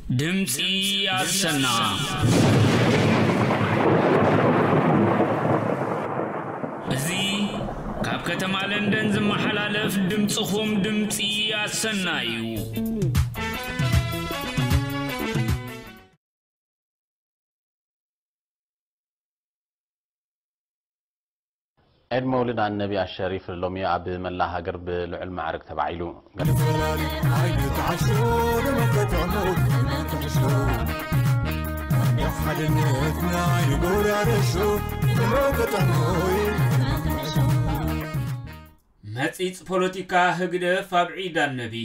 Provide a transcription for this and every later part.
ድምፂ ኣሰና። እዚ ካብ ከተማ ለንደን ዝመሓላለፍ ድምፅኹም ድምፂ ኣሰና እዩ። ዒድ መውሊድ ኣነቢ ኣሸሪፍ ሎሚ ኣብ መላእ ሃገር ብልዑል ማዕርግ ተባዒሉ። መጺጽ ፖለቲካ ህግደፍ ኣብ ዒድ ኣነቢ።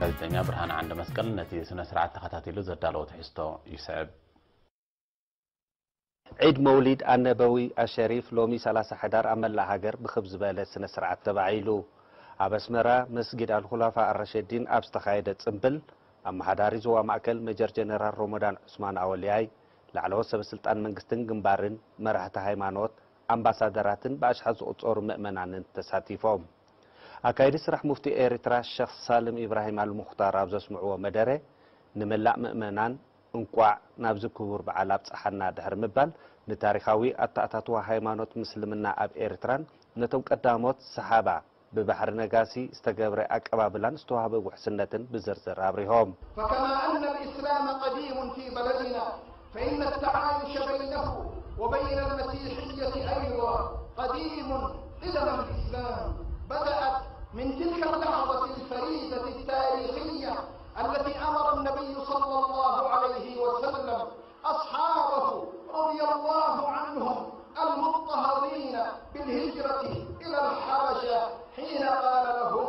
ጋዜጠኛ ብርሃነ ዓንደ መስቀል ነቲ ስነ ስርዓት ተኸታቲሉ ዘዳለዎ ትሕዝቶ ይስዕብ። ዒድ መውሊድ ኣነበዊ ኣሸሪፍ ሎሚ ሰላሳ ሕዳር ኣብ መላእ ሃገር ብኽብ ዝበለ ስነ ስርዓት ተባዒሉ። ኣብ ኣስመራ መስጊድ ኣልኹላፋ ኣረሸዲን ኣብ ዝተኻየደ ጽምብል፣ ኣመሓዳሪ ዞባ ማእከል ሜጀር ጀነራል ሮሞዳን ዑስማን ኣወልያይ፣ ላዕለዎት ሰበ ስልጣን መንግስትን ግንባርን፣ መራሕቲ ሃይማኖት፣ ኣምባሳደራትን ብኣሽሓት ዝቑጸሩ ምእመናንን ተሳቲፎም። ኣካይዲ ስራሕ ሙፍቲ ኤርትራ ሸኽ ሳልም ኢብራሂም ኣልሙኽታር ኣብ ዘስምዕዎ መደረ፣ ንመላእ ምእመናን እንቋዕ ናብዚ ክቡር በዓል ኣብጽሓና ድሕሪ ምባል፣ ንታሪኻዊ ኣተኣታትዋ ሃይማኖት ምስልምና ኣብ ኤርትራን ነቶም ቀዳሞት ሰሓባ ብባሕሪ ነጋሲ ዝተገብረ ኣቀባብላን ዝተዋህበ ውሕስነትን ብዝርዝር ኣብሪሆም። فكما أن الإسلام قديم في بلدنا، فإن التعايش بينه وبين المسيحية أيضا قديم قدم الإسلام. بدأت من تلك اللحظة الفريدة التاريخية التي أمر النبي صلى الله عليه وسلم أصحابه رضي الله عنهم المضطهدين بالهجرة إلى الحبشة، حين قال لهم: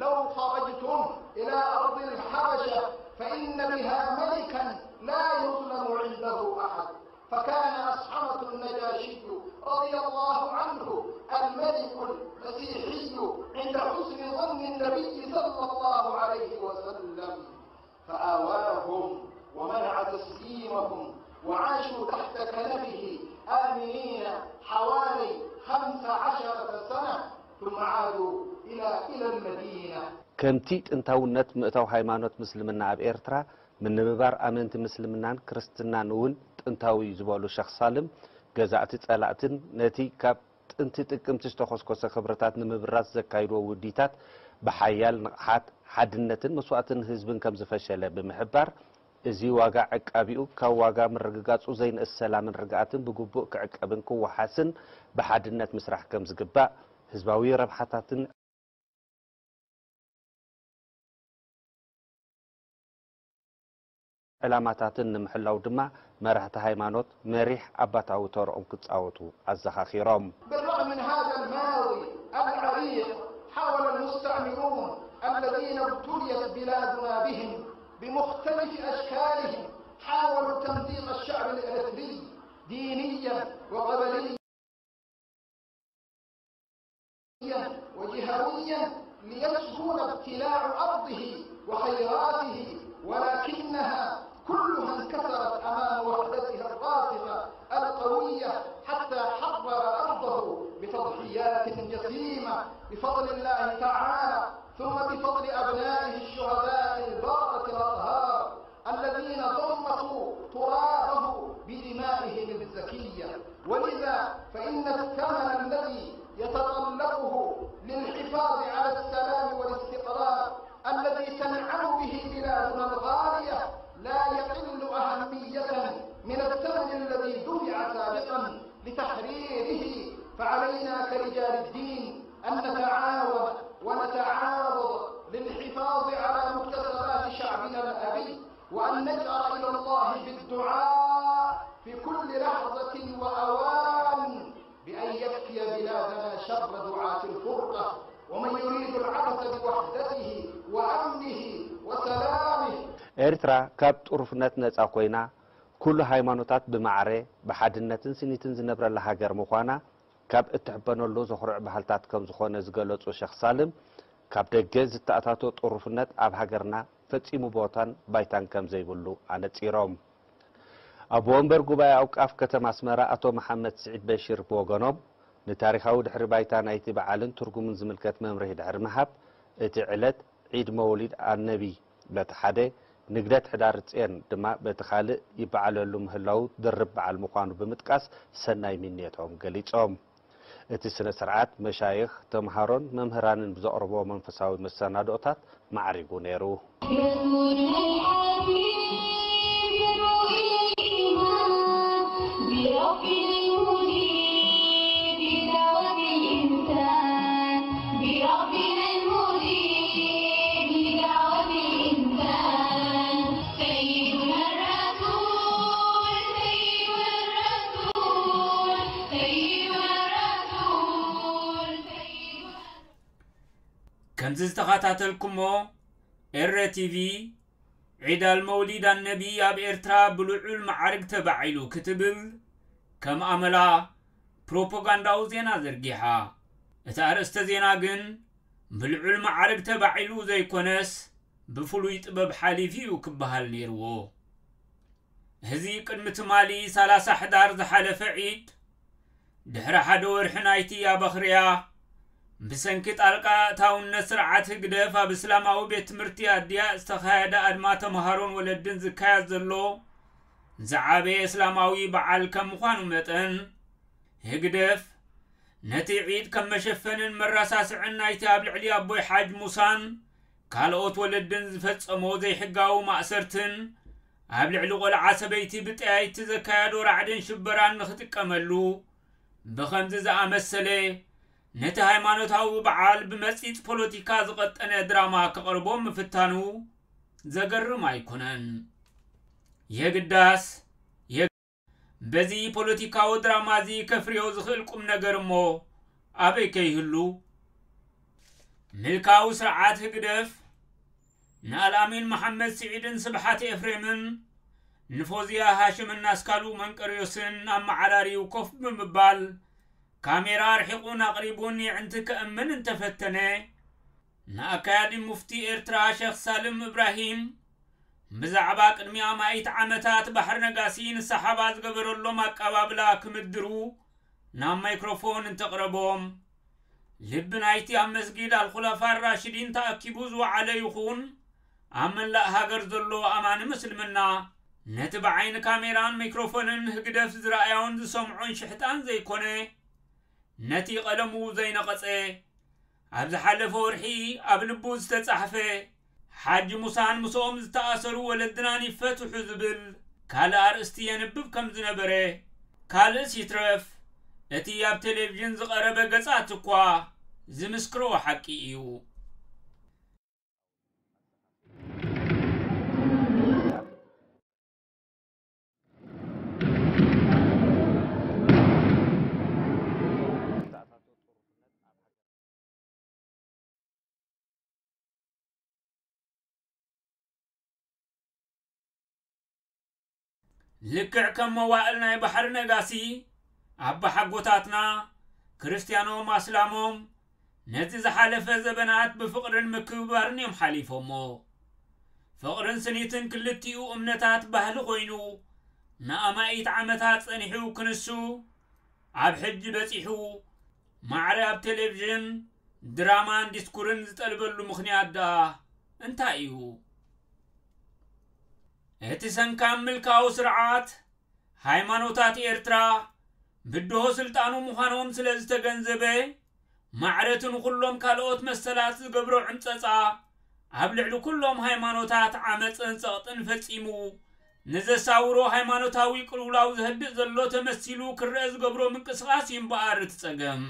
لو خرجتم إلى أرض الحبشة فإن بها ملكا لا يظلم عنده أحد. فكان أصحمة النجاشي رضي الله عنه الملك المسيحي عند حسن ظن النبي صلى الله عليه وسلم، فآواهم ومنع تسليمهم، وعاشوا تحت كنفه آمنين حوالي خمس عشرة سنة، ثم عادوا إلى، إلى المدينة. ከምቲ ጥንታውነት ምእታው ሃይማኖት ምስልምና ኣብ ኤርትራ፣ ምንብባር ኣመንቲ ምስልምናን ክርስትናን እውን ጥንታዊ እዩ ዝበሉ ሸኽ ሳልም፣ ገዛእቲ ጸላእትን ነቲ ካብ ጥንቲ ጥቅምቲ ዝተኾስኮሰ ክብርታት ንምብራዝ ዘካይድዎ ውዲታት ብሓያል ንቕሓት፣ ሓድነትን መስዋእትን ህዝብን ከም ዝፈሸለ ብምሕባር፣ እዚ ዋጋ ዕቃቢኡ ካብ ዋጋ ምርግጋጹ ዘይንእስ ሰላምን ርግኣትን ብግቡእ ክዕቀብን ክወሓስን ብሓድነት ምስራሕ ከም ዝግባእ፣ ህዝባዊ ረብሓታትን ዕላማታትን ንምሕላው ድማ መራሕቲ ሃይማኖት መሪሕ ኣባታዊ ተርኦም ክጻወቱ ኣዘኻኺሮም። بالرغم من هذا الماضي العريق، حاول المستعمرون الذين ابتليت بلادنا بهم بمختلف أشكالهم، حاولوا تمزيق الشعب الإريتري دينيا وقبليا وجهويا ليسهل ابتلاع أرضه وخيراته، ولكنها كلها انكسرت أمام وحدتها الراسخة القوية، حتى حرر أرضه بتضحيات جسيمة بفضل الله تعالى، ثم بفضل أبنائه الشهداء البررة الأطهار. الذين ضمخوا ترابه بدمائهم الزكية. ولذا فإن الثمن الذي يتطلبه للحفاظ على السلام والاستقرار الذي تنعم به بلادنا الغالية لا يقل أهمية من الثمن الذي دفع سابقا لتحريره. فعلينا كرجال الدين أن نتعاون ونتعاضد للحفاظ على مكتسبات شعبنا الأبي، وأن نجأر إلى الله بالدعاء في كل لحظة وأوان بأن يكفي بلادنا شر دعاة الفرقة، ومن يريد العبث بوحدته وأمنه وسلامه. ኤርትራ ካብ ጥሩፍነት ነጻ ኮይና፣ ኩሉ ሃይማኖታት ብማዕረ ብሓድነትን ስኒትን ዝነብረላ ሃገር ምዃና ካብ እትሕበነሉ ዘኹርዕ ባህልታት ከም ዝኾነ ዝገለጹ ሸኽ ሳልም፣ ካብ ደገ ዝተኣታቶ ጥሩፍነት ኣብ ሃገርና ፈጺሙ ቦታን ባይታን ከም ዘይብሉ ኣነጺሮም። ኣቦ ወንበር ጉባኤ ኣውቃፍ ከተማ ኣስመራ ኣቶ መሓመድ ስዒድ በሽር ብወገኖም፣ ንታሪኻዊ ድሕሪ ባይታ ናይቲ በዓልን ትርጉሙን ዝምልከት መምርሒ ድሕሪ ምሃብ፣ እቲ ዕለት ዒድ መውሊድ ኣነቢ በቲ ሓደ፣ ንግደት ሕዳር ጽዮን ድማ በቲ ካልእ ይበዓለሉ ምህላዉ ድርብ በዓል ምዃኑ ብምጥቃስ ሰናይ ምንየቶም ገሊጾም። እቲ ስነ ስርዓት መሻይኽ፣ ተምሃሮን መምህራንን ብዘቕርብዎ መንፈሳዊ መሰናድኦታት ማዕሪጉ ነይሩ። ከምዚ ዝተኸታተልኩሞ፣ ኤረ ቲቪ፣ ዒድ ኣልመውሊድ ኣነቢ ኣብ ኤርትራ ብልዑል መዓርግ ተባዒሉ ክትብል ከም ኣመላ ፕሮፓጋንዳዊ ዜና ዘርጊሓ። እቲ ኣርእስተ ዜና ግን ብልዑል መዓርግ ተባዒሉ ዘይኮነስ፣ ብፍሉይ ጥበብ ሓሊፉ እዩ ክበሃል ነይርዎ። እዚ ቅድሚ ትማሊ ሰላሳ ሕዳር ዝሓለፈ ዒድ፣ ድሕሪ ሓደ ወርሒ ናይቲ ኣበኽርያ፣ ብሰንኪ ጣልቃ ኣእታውነት ስርዓት ህግደፍ ኣብ እስላማዊ ቤት ትምህርቲ ኣድያ ዝተኻየደ ኣድማ ተምሃሮን ወለድን ዝካየድ ዘሎ ዝዓበየ እስላማዊ በዓል ከም ምዃኑ መጠን፣ ህግደፍ ነቲ ዒድ ከም መሸፈንን መረሳስዕን ናይቲ ኣብ ልዕሊ ኣቦይ ሓጅ ሙሳን ካልኦት ወለድን ዝፈጸሞ ዘይሕጋዊ ማእሰርትን ኣብ ልዕሊ ቆልዓ ሰበይቲ ብጠያይቲ ዘካየዶ ራዕድን ሽበራን ንኽጥቀመሉ፣ ብኸምዚ ዝኣመሰለ ነቲ ሃይማኖታዊ በዓል ብመጺጽ ፖለቲካ ዝቐጠነ ድራማ ከቕርቦ ምፍታኑ ዘገርም ኣይኮነን። የግዳስ፣ የ-፣ በዚ ፖለቲካዊ ድራማ እዚ ከፍርዮ ዝኽእል ቁም ነገር እሞ ኣበይ ከይህሉ? ምልካዊ ስርዓት ህግደፍ ንኣልኣሚን መሓመድ ስዒድን ስብሓት ኤፍሬምን ንፎዝያ ሃሽምን ኣስካሉ መንቀርዮስን ኣመዓራርዩ ኮፍ ብምባል፣ ካሜራ ኣርሒቑን ኣቕሪቡን የዕንቲ ከእምን እንተፈተነ፣ ንኣካያዲ ሙፍቲ ኤርትራ ሸኽ ሳልም እብራሂም፣ ብዛዕባ ቅድሚ ኣማኢት ዓመታት ባሕሪ ነጋሲ ንሰሓባ ዝገበረሎም ኣቀባብላ ክምድሩ ናብ ማይክሮፎን እንተቕረቦም፣ ልቢ ናይቲ ኣብ መስጊድ ኣልኹለፋ ራሽዲን ተኣኪቡ ዝወዓለ ይኹን ኣብ መላእ ሃገር ዘሎ ኣማኒ ምስልምና፣ ነቲ ብዓይኒ ካሜራን ማይክሮፎንን ህግደፍ ዝረኣዮን ዝሰምዖን ሽሕጣን ዘይኮነ፣ ነቲ ቀለሙ ዘይነቐጸ፣ ኣብ ዝሓለፈ ወርሒ ኣብ ልቡ ዝተጻሕፈ፣ ሓጂ ሙሳን ምስኦም ዝተኣሰሩ ወለድናን ይፈትሑ ዝብል ካልእ ኣርእስቲ የንብብ ከም ዝነበረ፣ ካልእስ ይትረፍ፣ እቲ ኣብ ቴሌቪዥን ዝቐረበ ገጻት እኳ ዝምስክሮ ሓቂ እዩ። ልክዕ ከም መዋእል ናይ ባሕሪ ነጋሲ፣ ኣባሓጎታትና፣ ክርስትያኖም ኣስላሞም፣ ነቲ ዝሓለፈ ዘበናት ብፍቕርን ምክብባርን እዮም ሓሊፎሞ። ፍቕርን ስኒትን ክልቲኡ እምነታት ባህሊ ኮይኑ፣ ንኣማኢት ዓመታት ጸኒሑ ክንሱ፣ ኣብ ሕጂ በጺሑ፣ ማዕረ ኣብ ቴሌቪዥን፣ ድራማን ዲስኩርን ዝጠልበሉ ምኽንያት ደኣ እንታይ እዩ? እቲ ሰንካም ምልካዊ ስርዓት፣ ሃይማኖታት ኤርትራ ብድሆ ስልጣኑ ምዃኖም ስለ ዝተገንዘበ፣ ማዕረቱ ንኹሎም ካልኦት መሰላት ዝገብሮ ዕምጸጻ፣ ኣብ ልዕሊ ኩሎም ሃይማኖታት ዓመጽን ጸቕጥን ፈጺሙ፣ ንዘሳውሮ ሃይማኖታዊ ቅልውላው ዘህድእ ዘሎ ተመሲሉ ክረአ ዝገብሮ ምንቅስቓስ እዩ እምበኣር እቲ ጸገም።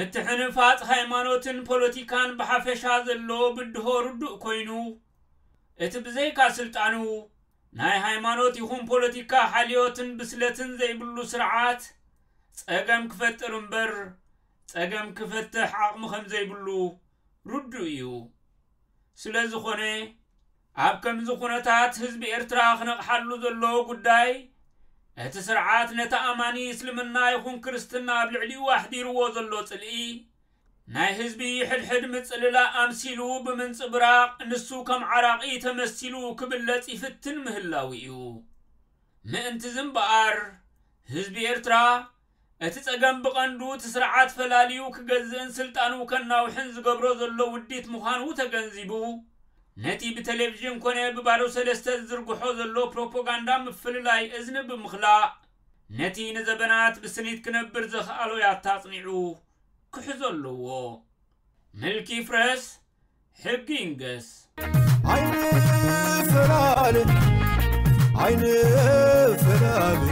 እቲ ሕንፋጽ ሃይማኖትን ፖለቲካን ብሓፈሻ ዘሎ ብድሆ ርዱእ ኮይኑ፣ እቲ ብዘይካ ስልጣኑ ናይ ሃይማኖት ይኹን ፖለቲካ ሓልዮትን ብስለትን ዘይብሉ ስርዓት ጸገም ክፈጥር እምበር ጸገም ክፈትሕ ዓቕሚ ከም ዘይብሉ ርዱእ እዩ። ስለ ዝኾነ፣ ኣብ ከምዚ ኩነታት ህዝቢ ኤርትራ ክነቕሓሉ ዘለዎ ጉዳይ፣ እቲ ስርዓት ነቲ ኣማኒ እስልምና ይኹን ክርስትና ኣብ ልዕሊኡ ኣሕዲርዎ ዘሎ ጽልኢ፣ ናይ ህዝቢ ሕድሕድ ምጽልላእ ኣምሲሉ ብምንጽብራቕ፣ ንሱ ከም ዓራቒ ተመሲሉ ክብለጽ ይፍትን ምህላው እዩ። ምእንቲ እዚ እምበኣር፣ ህዝቢ ኤርትራ፣ እቲ ጸገም ብቐንዱ እቲ ስርዓት ፈላልዩ ክገዝእን ስልጣኑ ከናውሕን ዝገብሮ ዘሎ ውዲት ምዃኑ ተገንዚቡ፣ ነቲ ብቴሌቪዥን ኮነ ብባዶ ሰለስተ ዝዝርግሖ ዘሎ ፕሮፓጋንዳ ምፍልላይ እዝኒ ብምኽላእ፣ ነቲ ንዘበናት ብስኒት ክነብር ዘኽኣሎ ያታ ኣጽኒዑ ክሕዞ ኣለዎ። ምልኪ ይፍረስ፣ ሕጊ ይንገስ። ኣይንፈላለ፣ ኣይንፈላለ፣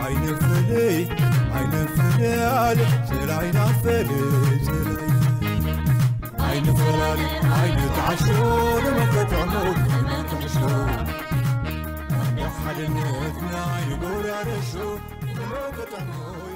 ኣይንፍለይ፣ ኣይንፍለያለ፣ ጽላይና ፈለ፣ ጽላይና። ኣይንፈላለ፣ ኣይንተዓሾ፣ ንመከተዕሞ፣ ንመከተዕሾ። ሓድነትና ኣይንጎራረሾ፣ ንመከተዕሞ።